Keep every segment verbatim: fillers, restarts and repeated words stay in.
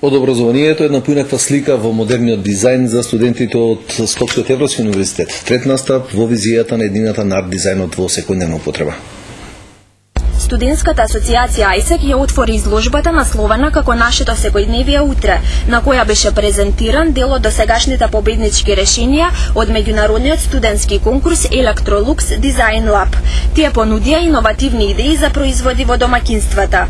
Од образованието една поинаква слика во модерниот дизајн за студентите од Скопскиот Европски универзитет. Трет настап во визијата на едината на арт-дизајнот во секојдневна употреба. Студентската асоциација АјСЕК ја отвори изложбата насловена како Нашето секојдневие утре, на која беше презентиран дел од досегашните победнички решенија од меѓународниот студентски конкурс Electrolux Design Lab. Тие понудија иновативни идеи за производи во домаќинствата.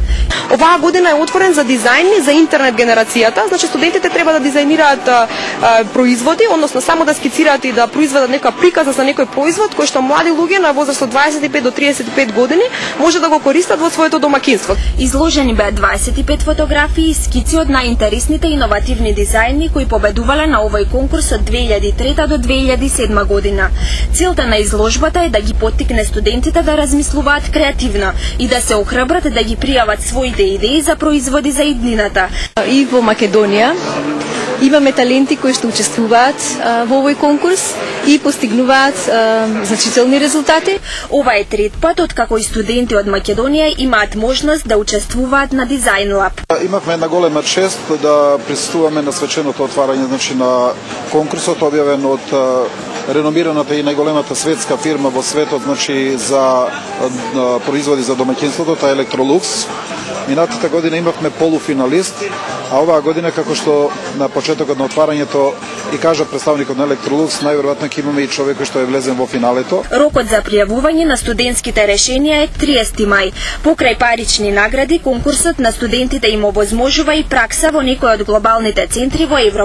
Оваа година е отворен за дизајни за интернет генерацијата, значи студентите треба да дизајнираат а, а, производи, односно само да скицираат и да произведат нека приказа за некој производ кој што млади луѓе на возраст од дваесет и пет до триесет и пет години може да го користат во своето домаќинство. Изложени беа дваесет и пет фотографии и скици од најинтересните иновативни дизајни кои победувале на овој конкурс од две илјади и трета до две илјади и седма година. Целта на изложбата е да ги поттикне студентите да размислуваат креативно и да се охрабрат да ги пријават своите идеи за производи за иднината. И во Македонија имаме таленти кои што учествуваат а, во овој конкурс и постигнуваат а, значителни резултати. Ова е трет пат откако и студенти од Македонија имаат можност да учествуваат на Design Lab. Имавме една голема чест да присуствуваме на свеченото отварање, значи на конкурсот објавен од реномираната и најголемата светска фирма во светот, значи за производи за домаќинството, та Electrolux. Минатата година имавме полуфиналист, а оваа година, како што на почетокот на отварањето и кажа представникот на Electrolux, најверојатно ќе имаме и човек кој што е влезен во финалето. Рокот за пријавување на студентските решенија е триесети мај. Покрај парични награди, конкурсот на студентите им овозможува и пракса во некој од глобалните центри во Европа.